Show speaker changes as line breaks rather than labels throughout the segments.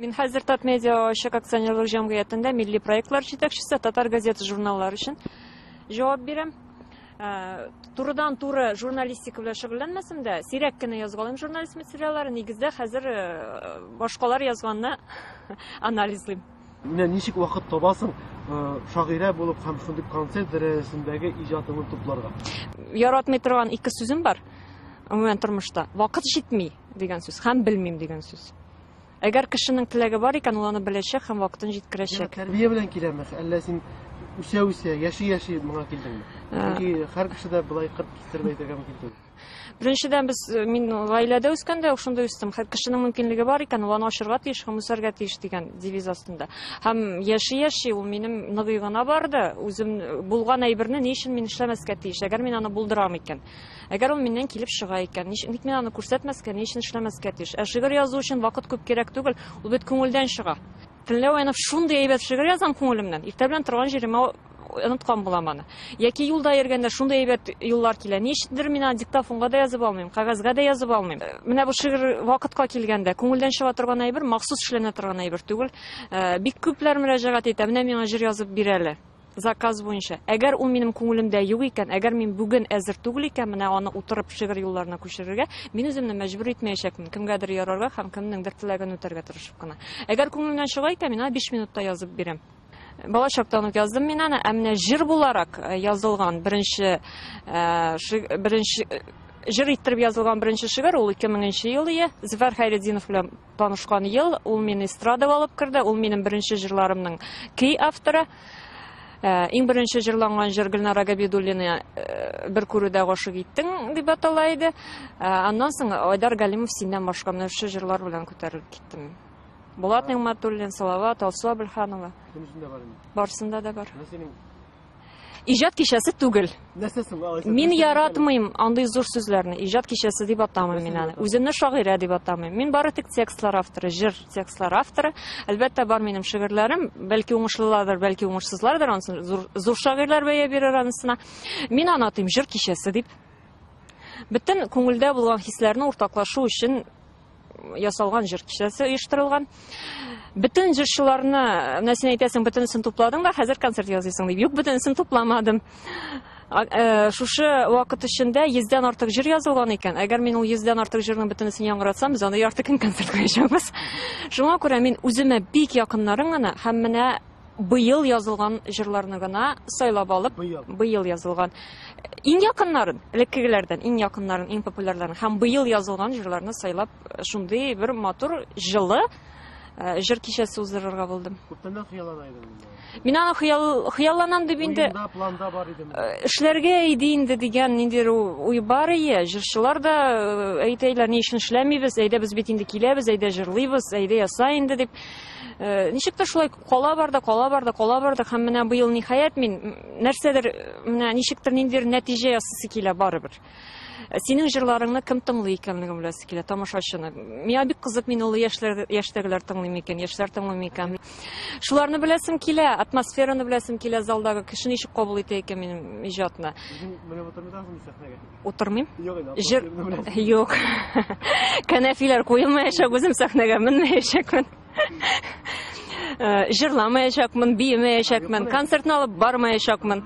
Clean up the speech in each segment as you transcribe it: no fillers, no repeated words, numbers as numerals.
Мин хәзер Татмедиа ачык акционерлык җәмгыятендә милли проектлар җитәкчесе, татар газета журналлары өчен җавап бирәм. Турыдан-туры журналистика белән шөгыльләнмәсәм дә, сирәк кенә язгалыйм журналист материаллары. Нигездә хәзер башкалар язганны анализлыйм.
Менә ничек вакыт табасың шагыйрә булып һәм шундый концерт дәрәҗәсендәге иҗатыңны тупларга?
Яратмый торган ике сүзем бар. Гомумән тормышта. Вакыт җитми дигән сүз һәм белмим дигән сүз. Әгәр кешенең теләге бар икән, ул аны беләчәк һәм вакытын җиткерәчәк.
Тәрбия белән киләме, әллә син үсә-үсә, яши-яши моңа килдеңме? Чөнки һәр кеше дә болай кырт кистереп әйтергә мөмкин түгел.
Беренчедән, без мин гаиләдә үскәндә үк шунда үстем. Һәр кешенең мөмкинлеге бар икән, ул аны ачырга тиеш һәм үсәргә тиеш дигән девиз астында. Һәм яши-яши ул минем ныгый гына барды. Үзем булган әйберне ни өчен мин эшләмәскә тиеш, әгәр мин аны булдырам икән. Әгәр ул миннән килеп чыга икән, ник мин аны күрсәтмәскә, ни өчен эшләмәскә тиеш? Ә шигырь язу өчен вакыт күп кирәк түгел, ул бит күңелдән чыга. Төнлә уянып шундый әйбәт шигырь язам күңелемнән. Иртә белән торган җиремә оныткан булам аны. Яки юлда йөргәндә шундый әйбәт юллар килә. Ни өчендер мин аны диктофонга да язып алмыйм, кәгазьгә дә язып алмыйм. Менә бу шигырь вакытка килгәндә, күңелдән чыга торган әйбер, махсус эшләнә торган әйбер түгел. Бик күпләр мөрәҗәгать итә, менә миңа җыр язып бир әле. Заказ буенча. Әгәр ул минем күңелемдә юк икән, әгәр мин бүген әзер түгел икән, менә аны утырып шигырь юлларына күчерергә, мин үземне мәҗбүр итмәячәкмен, кемгәдер ярарга һәм кемнеңдер теләген үтәргә тырышып кына. Әгәр күңелемнән чыга икән, мин аны 5 минутта язып бирәм. Бала чактан ук яздым мин аны, ә менә җыр буларак язылган беренче беренче җыр иттереп язылган беренче шигырь ул 2000 ел ие. Зөфәр Хәйретдинов белән танышкан ел, ул мине эстрадага алып керде, ул минем беренче җырларымның көй авторы. Иң беренче җырланган җыр Гөлнара Габидуллина бер күрүдә гашык иттең дип атала иде. Аннан соң Айдар Галимов синнән башка менә шушы җырлар белән күтәрелеп киттем. Булат Нигъмәтуллин, Салават, Алсу Әбелханова.
Бөтенесендә бар инде.
Барсында да бар.
Менә синең
Иҗат кичәсе түгел.
Нәрсә соң алайса?
Мин яратмыйм андый зур сүзләрне. Иҗат кичәсе дип атамыйм мин аны. Үземне шагыйрә дип атамыйм. Мин бары тик текстлар авторы, җыр текстлар авторы. Әлбәттә, бар минем шигырьләрем, бәлки уңышлылардыр, бәлки уңышсызлардыр, ансын зур, зур шагыйрьләр бәя бирер анысына. Мин аны атыйм җыр кичәсе дип. Бөтен күңелдә булган хисләрне уртаклашу өчен ясалган җыр кичәсе оештырылган. Бөтен җырчыларны, менә син әйтәсең, бөтенесен тупладың да, хәзер концерт ясыйсың дип. Юк, бөтенесен тупламадым. Шушы вакыт эчендә 100дән артык җыр язылган икән. Әгәр мин ул 100дән артык җырның бөтенесен яңгыратсам, без анда ярты көн концерт куячакбыз. Шуңа күрә мин үземә бик якыннарын гына һәм менә быел язылган җырларны гына сайлап алып,
быел,
быел язылган иң якыннарын, элеккегеләрдән иң якыннарын, иң популярларын һәм быел язылган җырларны сайлап, шундый бер матур, җылы җыр кичәсе уздырырга булдым.
Күптәннән хыяллана идең инде.
Мин аны хыял, хыялланам дип инде.
Уенда, планда бар идеме?
Эшләргә иде инде дигән ниндидер уй бар ие. Җырчылар да әйтәйләр, ни өчен эшләмибез, әйдә без бит инде киләбез, әйдә җырлыйбыз, әйдә яса инде дип. Ничек тә шулай кала барды, кала барды, кала барды һәм менә быел ниһаять мин нәрсәдер, менә ничектер ниндидер нәтиҗә ясыйсы килә барыбер. Синең җырларыңны кем тыңлый икәнлеген беләсе килә, тамашачыны. Миңа бик кызык, мин олы яшьләр, яшьтәгеләр тыңлый микән, яшьләр тыңлый микән. Шуларны беләсем килә, атмосфераны беләсем килә залдагы кеше ничек кабул итә икән минем иҗатны.
Үзең менеп утырмыйсыңмы сәхнәгә?
Утырмыйм.
Юк инде,
Җыр Юк. Кәнәфиләр куелмаячак, үзем сәхнәгә менмәячәкмен. Җырламаячакмын, биемәячәкмен, концертны алып бармаячакмын.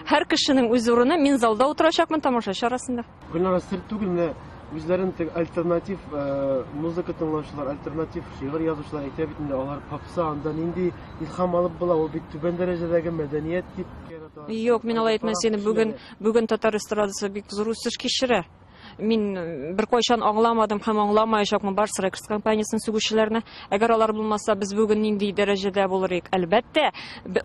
Һәр кешенең үз урыны, мин залда утырачакмын тамашачы арасында.
Гөлнара, сер түгел, менә үзләрен теге альтернатив музыка тыңлаучылар, альтернатив шигырь язучылар әйтә бит инде, алар попса, анда нинди илһам алып була, ул бит түбән дәрәҗәдәге мәдәният дип.
Юк, мин алай әйтмәс идем. Бүген, бүген татар эстрадасы бик зур үсеш кичерә. Мин беркайчан аңламадым һәм аңламаячакмын Барс Рекордс компаниясен сүгүчеләрне. Әгәр алар булмаса, без бүген нинди дәрәҗәдә булыр идек? Әлбәттә,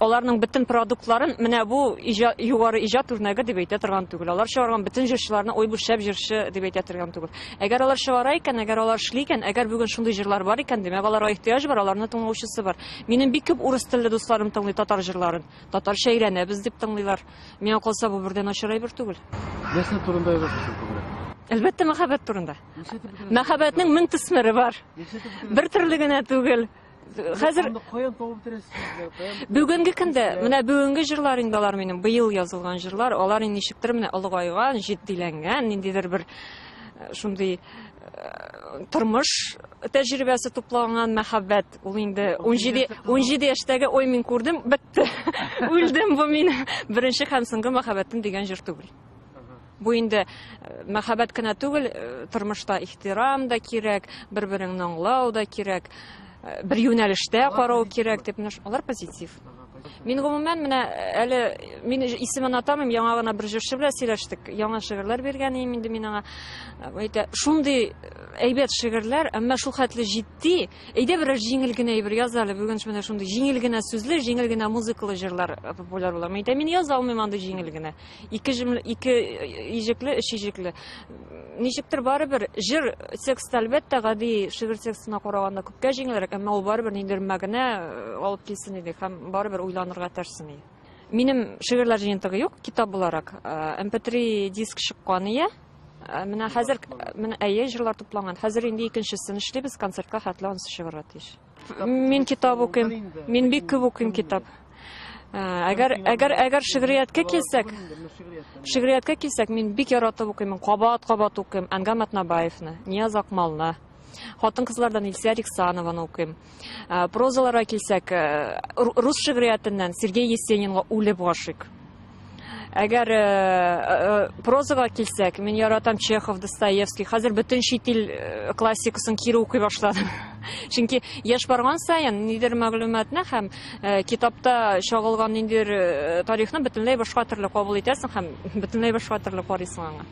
аларның бөтен продуктларын менә бу югары иҗат үрнәге дип әйтә торган түгел. Алар чыгарган бөтен җырчыларны ой бу шәп җырчы дип әйтә торган түгел. Әгәр алар чыгара икән, әгәр алар эшли икән, әгәр бүген шундый җырлар бар икән, димәк, аларга ихтыяҗ бар, аларны тыңлаучысы бар. Минем бик күп урыс телле дусларым тыңлый татар җырларын. Татарча өйрәнәбез дип тыңлыйлар. Миңа калса, бу бердән начар әйбер түгел.
Нәрсә турында язасың син күбрәк?
Әлбәттә, мәхәббәт турында. Мәхәббәтнең мең төсмере бар. Бер төрле генә түгел. Хәзер
каян табып бетерәсез сүзләр? Каян?
Бүгенге көндә, менә бүгенге җырлар инде алар минем, быел язылган җырлар, алар инде ничектер менә олыгайган, җитдиләнгән, ниндидер бер шундый тормыш тәҗрибәсе тупланган мәхәббәт. Ул инде 17 17 яшьтәге ой мин күрдем, бетте. Үлдем, бу минем беренче һәм соңгы мәхәббәтем дигән җыр түгел. Бу инде мәхәббәт кенә түгел, тормышта ихтирам да кирәк, бер-береңне аңлау да кирәк, бер юнәлештә карау кирәк дип, менә алар позитив. Мин гомумән менә әле мин исемен атамыйм, яңа гына бер җырчы белән сөйләштек. Яңа шигырьләр биргән идем инде мин аңа. Әйтә, шундый әйбәт шигырьләр, әмма шул хәтле җитди. Әйдә берәр җиңел генә әйбер яз әле. Бүген менә шундый җиңел генә сүзле, җиңел генә музыкалы җырлар популяр була. Мин әйтәм, мин яза алмыйм андый җиңел генә. Ике җөмлә, ике иҗекле, өч иҗекле. Ничектер барыбер җыр тексты әлбәттә гади шигырь текстына караганда күпкә җиңелрәк, әмма ул барыбер ниндидер мәгънә алып килсен иде һәм барыбер уйланырга этәрсен иде. Минем шигырьләр җыентыгы юк, китап буларак. MP3 диск чыккан ия. Менә хәзер, менә әйе, җырлар тупланган. Хәзер инде икенчесен эшлибез, концертка хәтле анысы чыгарга тиеш. Мин китап укыйм. Мин бик күп укыйм китап. Әгәр, әгәр, әгәр шигърияткә килсәк, шигърияткә килсәк, мин бик яратып укыйм, кабат-кабат укыйм Әнгам Атнабаевны, Нияз Акмалны. Хатын-кызлардан Илсөяр Ихсанованы укыйм. Прозаларга килсәк, рус шигъриятеннән Сергей Есенинга үлеп гашыйк. Әгәр прозага килсәк, мин яратам Чехов, Достоевский. Хәзер бөтен чит ил классикасын кире укый башладым. Чөнки яшь барган саен нидер мәгълүматны һәм китапта чагылган ниндидер тарихны бөтенләй башка төрле кабул итәсең һәм бөтенләй башка төрле карыйсың аңа.